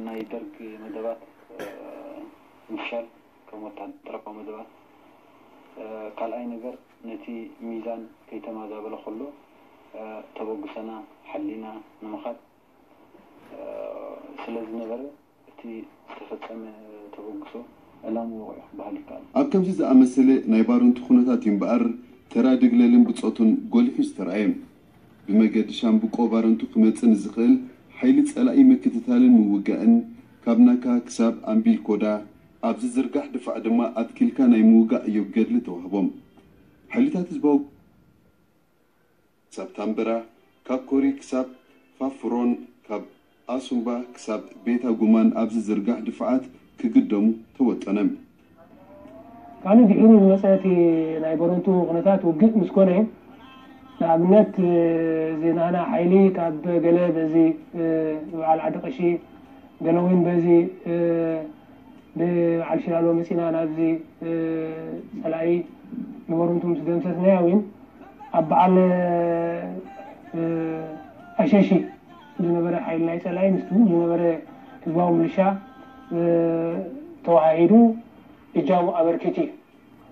ናይ ደርግ መደባት ምፍሻል ከም ወታደራዊ መደባት፣ ካልኣይ ነገር ነቲ ሚዛን ከይተማዛበለ ከሎ ተበግሶና ሓሊና ንምኻድ ስለ ዝነበረ እቲ ዝተፈጸመ ተበግሶ ዕላምኡ ወቒዑ ክበሃል ይከኣል። ኣብ ከምዚ ዝኣመሰለ ናይ ባረንቱ ኩነታት እዩ እምበኣር ተራ ድግለልን ብጾቱን ጎሊሑ ዝተራእየ። ብመገዲ ሻምብቆ ባረንቱ ክመጽእ ንዝኽእል ሓይሊ ጸላኢ ምክትታልን ምውጋእን ካብ ናካ ክሳብ ኣምቢልኮዳ ኣብ ዝዝርጋሕ ድፋዕ ድማ ኣትኪልካ ናይ ምውጋእ ዕዮብ ገድሊ ተዋህቦም። ሓይልታት ህዝባዊ ክሳብ ታምበራ፣ ካብ ኮሪ ክሳብ ፋፍሮን ካብ ኣሱምባ ክሳብ ቤታ ጉማን ኣብ ዝዝርጋሕ ድፋዓት ክግደሙ ተወጠነ። ካልእ ድሒሩ ዝመጸ እቲ ናይ በረንቱ ኩነታት ውግእ ምስ ኮነ፣ ንኣብነት እዚ ናህና ሓይሊ ካብ ገለ በዚ ብበዓል ዓዲ ቀሺ ገለ እውን በዚ ብበዓል ሽላሎ መጺና ናብዚ ጸላኢ ንበረንቱ ምስ ደምሰስናያ እውን ኣብ በዓል ኣሸሺ ዝነበረ ሓይሊ ናይ ጸላኢ ምስቲ ዝነበረ ህዝባዊ ምልሻ ተዋሃሂዱ እጃሙ ኣበርኪቱ እዩ።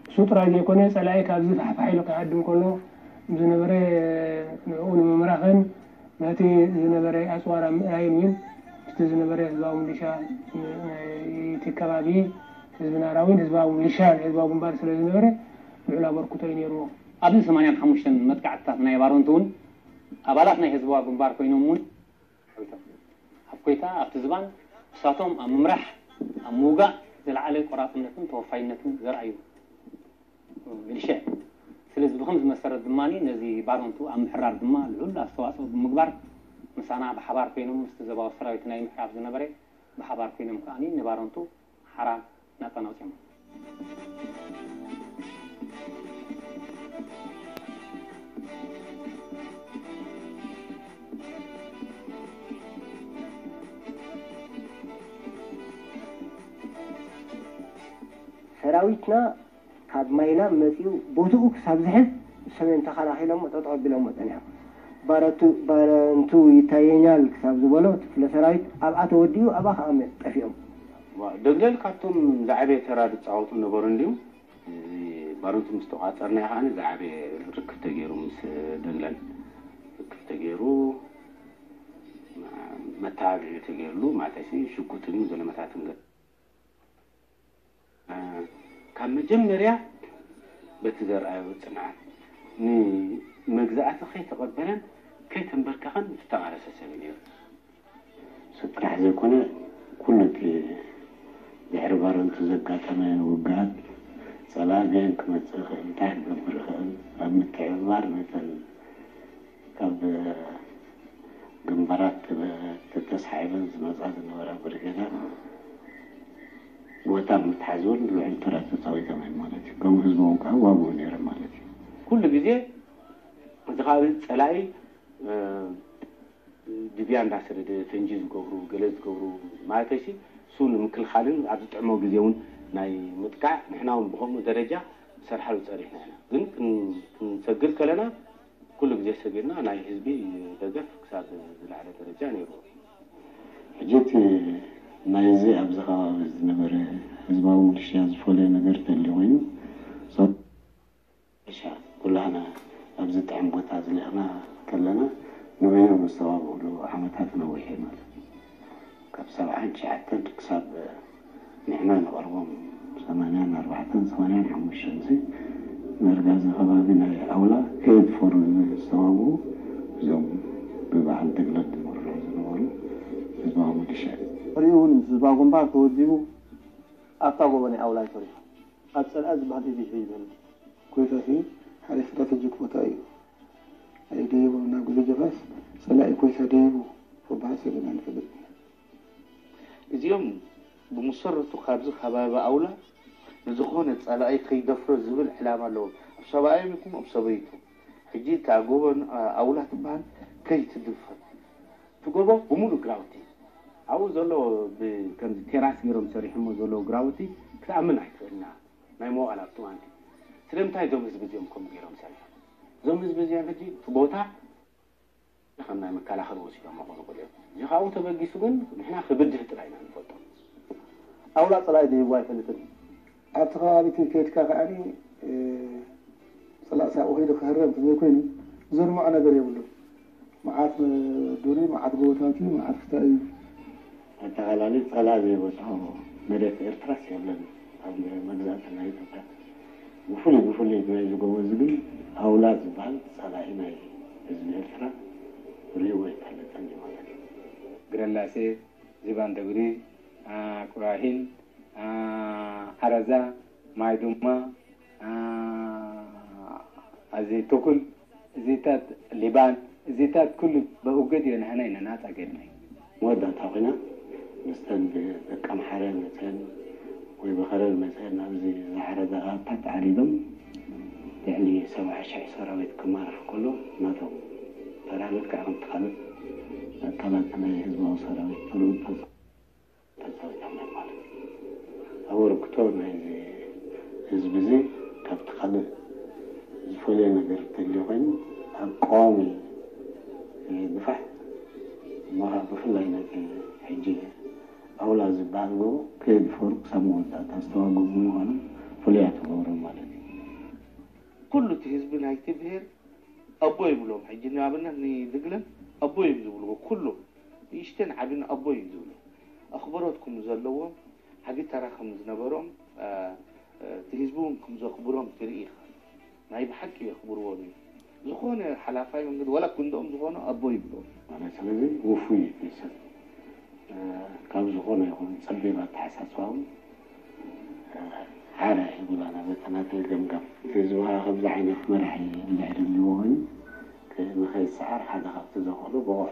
እሱ ጥራይ ዘይኮነ ጸላኢ ካብዚ ፋሕፋሕ ኢሉ ክሃድም ከሎ ዝነበረ ንዕኡ ንምምራኽን ነቲ ዝነበረ ኣጽዋር ኣብ ምእራይን እውን ምስቲ ዝነበረ ህዝባዊ ምልሻ ናይቲ ከባቢ ህዝቢ ናራዊን ህዝባዊ ምልሻን ህዝባዊ ግንባር ስለ ዝነበረ ልዑል ኣበርክቶ እዩ ነይርዎ። ኣብዚ ሰማንያን ሓሙሽተን መጥቃዕትታት ናይ ባረንቱ እውን ኣባላት ናይ ህዝባዊ ግንባር ኮይኖም እውን ኣብ ኮይታ ኣብቲ ዝባን ንሳቶም ኣብ ምምራሕ ኣብ ምውጋእ ዝለዓለ ቆራፅነትን ተወፋይነትን ዘርኣዩ ሚሊሻ እዮም። ስለዚ ብኸምዚ መሰረት ድማ ነዚ ባረንቱ ኣብ ምሕራር ድማ ልዑል ኣስተዋፅኦ ብምግባር ምሳና ብሓባር ኮይኖም ምስቲ ዘባዊ ሰራዊት ናይ ምሕራር ዝነበረ ብሓባር ኮይኖም ከዓ ንባረንቱ ሓራ ናፃ ኣውፂኦሞ። ሰራዊትና ካብ ማይላም መፂኡ ቦትኡ ክሳብ ዝሕዝ ሰሜን ተኸላኺሎሞ ጠጠው ኣቢሎሞ ፀኒሖም። ባረንቱ ይታየኛል ክሳብ ዝበሎ እቲ ክፍለ ሰራዊት ኣብኣ ተወዲኡ ኣብኣ ከዓ ጠፊኦም። ደግለል ካብቶም ዝዓበየ ተራ ዝፃወቱ ነበሩ እንድዩ። እዚ ባረንቱ ምስ ተቋፀርናዮ ከዓ ዝዓበየ ርክብ ተገይሩ ምስ ደግለል ርክብ ተገይሩ መተባብዒ ተገይርሉ ማለት ሽጉጥን ዘለመታትን ካብ መጀመርያ በቲ ዘርኣዮ ፅንዓት ንመግዛእቲ ከይተቐበለን ከይተንበርከኸን ዝተቓለሰ ሰብ እዩ ነይሩ። እሱ ጥራሕ ዘይኮነ ኩሉ እቲ ድሕሪ ባረንቱ ዘጋጠመ ውግኣት ፀላኢ በየን ክመፅእ ይኽእል፣ እንታይ ክገብር ይኽእል ኣብ ምትሕብባር ነተን ካብ ግንባራት ተተስሓይበን ዝመፃ ዝነበራ ብርጌዳት ቦታ ምትሓዝ እውን ልዑል ተራ ተፃዊቶም እዮም ማለት እዩ። ከምኡ ህዝቦም ከዓ ዋግኡ ነይሮም ማለት እዩ። ኩሉ ግዜ እዚ ከባቢ ፀላኢ ድብያ እንዳሰደደ ፈንጂ ዝገብሩ ገለ ዝገብሩ ማለተይሲ እሱ ንምክልኻልን ኣብ ዝጥዕሞ ግዜ እውን ናይ ምጥቃዕ ንሕና እውን ብከምኡ ደረጃ ንሰርሓሉ ፀኒሕና ኢና። ግን ክንሰግር ከለና ኩሉ ግዜ ሰጊርና ናይ ህዝቢ ደገፍ ክሳብ ዝለዓለ ደረጃ ነይርዎ። ሕጂ እቲ ናይዚ ኣብዚ ከባቢ ዝነበረ ህዝባዊ ምልሽያ ዝፈለየ ነገር ተልዩ ኮይኑ እርሻ ኩላህና ኣብዚ ጥዕም ቦታ ዝልእኽና ከለና ንበይኖም ዝተባብዕሉ ዓመታት ነዊሕ እዩ ማለት እዩ። ካብ ሰብዓን ትሽዓተን ክሳብ ንሕና ንቐርቦም ሰማንያን ኣርባዕተን ሰማንያን ሓሙሽተን እዚ መርጋዚ ከባቢ ናይ ኣውላ ከየድፈሩ ዝተባብዑ እዞም ብበዓል ደግለት ዝምርሑ ዝነበሩ ህዝባዊ ሚሊሻ እዩ። ድሕሪኡ እውን ምስ ህዝባዊ ግንባር ተወዲቡ ኣብታ ጎቦ ናይ ኣውላ እዩ ሰሪሑ። ኣብ ፀልኣ ዝበሃል ኢቪ ሒዙ ይበልጥ። ኮይታ እቲ ሓደ ስትራተጂክ ቦታ እዩ። ኣይደይቡ ናብ ግዜ ጀፋስ ፀላኢ ኮይታ ደይቡ ክበሃል ሰሚዕና ንፈልጥ ኢና። እዚኦም ብመሰረቱ ካብዚ ከባቢ ኣውላ ንዝኾነ ፀላኢ ከይደፍሮ ዝብል ዕላማ ኣለዎም። ኣብ ሰብኣዮም ይኹን ኣብ ሰበይቶም። ሕጂ እታ ጎቦ ኣውላ ትበሃል ከይትድፈር። እቲ ጎቦ ብምሉእ ግራውቲ ኣብኡ ዘሎ ከምዚ ቴራስ ገይሮም ሰሪሖሞ ዘለዉ ግራውቲ ክትኣምን ኣይትኽእልና። ናይ መዋእላ ኣብቲ እዋንቲ ስለምንታይ እዞም ህዝቢ እዚኦም ከምኡ ገይሮም ሰሪሖም? እዞም ህዝቢ እዚኦም ሕጂ እቲ ቦታ ከም ናይ መከላኸሊ ወሲዶሞ ክኾኑ ይኽእሉ እዮም። እዚ ካብኡ ተበጊሱ ግን ንሕና ክብድህ ጥራይ ኢና ንፈልጦ። ኣውላ ጸላኢ ደይቡ ኣይፈልጥን። ኣብቲ ከባቢ እቲ ከይድካ ከኣ ጸላእ ሳብኡ ከይዱ ክህረም እንተዘይኮይኑ ዘድምዖ ነገር የብሉን። መዓት ዱር እዩ፣ መዓት ጎቦታት እዩ፣ መዓት ክታይ እዩ። ኣጠቓላሊ ጸላእ ዘይበጽሖ መሬት ኤርትራስ የለን። ኣብ መግዛእቲ ናይ ኢትዮጵያ ብፍሉይ ብፍሉይ ናይዚ ጎቦ እዚ ግን ኣውላ ዝበሃል ጸላኢ ናይ ህዝቢ ኤርትራ ርእይዎ ኣይፈልጥን እዩ ማለት እዩ። ግረላሴ፣ ዚባን ደግሪ፣ ቁራሂን፣ ዓረዛ፣ ማይ ዱማ፣ ኣዚ ቱኩል፣ እዚታት ሊባን፣ እዚታት ኩሉ ብኡገድ እዮ ንሕና ኢና ናጻ ገርናይ። መወዳእታ ኮይና ምስተን ብደቂ ኣምሓረ መፅአን ወይ ብኸረን መፅአን ኣብዚ ዝዓረዳ ኣታት ዓሪዶም ልዕሊ ሰብዓ ሽሕ ሰራዊት ክማርኽ ከሎ ናቶም ተራ ልክዕ ከምቲ ካልእ ኣካላት ናይ ህዝባዊ ሰራዊት ተልእኮ ተፃዊቶም እዮም ማለት እዩ። ኣበርክቶ ናይዚ ህዝቢ እዚ ካብቲ ካልእ ዝፈልዮ ነገር እንተልዩ ኮይኑ ኣብ ቀዋሚ ድፋዕ እሞ ከዓ ብፍላይ ነቲ ሕጂ ኣውላ ዝበሃል ጎቦ ከየድፈሩ ክሳብ መወዳእታ ዝተዋግኡ ብምዃኖም ፍሉያት ይገብሮም ማለት እዩ። ኩሉ እቲ ህዝቢ ናይቲ ብሄር ኣቦ ይብሎም። ሕጂ ንኣብነት ንድግለን ኣቦ እዮም ዝብልዎ። ኩሎም ንእሽተን ዓብን ኣቦ እዮም ዝብሉ። ኣኽብሮት ከም ዘለዎም፣ ዓቢ ተራ ከም ዝነበሮም፣ እ፣ እ፣ እቲ ህዝቢ እውን ከም ዘኽብሮም ትርኢ ኢኻ። ናይ ብሓቂ የኽብርዎም እዮም። ዝኾነ ሓላፋይ መንገዲ፣ ዋላ ክንድኦም ዝኾኑ ኣቦ ይብልዎም። ማለት ስለዚ ውፉይ እዩ እቲ ሰብ። እ፣ ካብ ዝኾነ ይኹን ጸቢብ ኣተሓሳስባ እውን፣ እ፣ ሓራ ይብላና በቲ ናተይ ገምጋም። እቲ ህዝቢ ከዓ ከምዚ ዓይነት መራሒ እንድሕር ህልዎ ኮይኑ፣ ክ-፣ ንኸይሰዓር ሓደ ካብቲ ዘኽእሎ ብቑዕ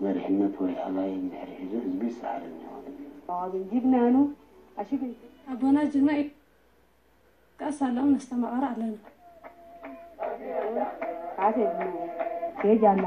መሪሕነት ወይ ኣላይ እንድሕር ሒዙ ህዝቢ ይሰዓር እኒሆ። ጅግናኑ ኣሽግን ኣቦና ጅግና እዩ። ቀስ ኣሎም ነስተማቐር ኣለና። ኣቴ ጅግና ፔጅ ኣላ።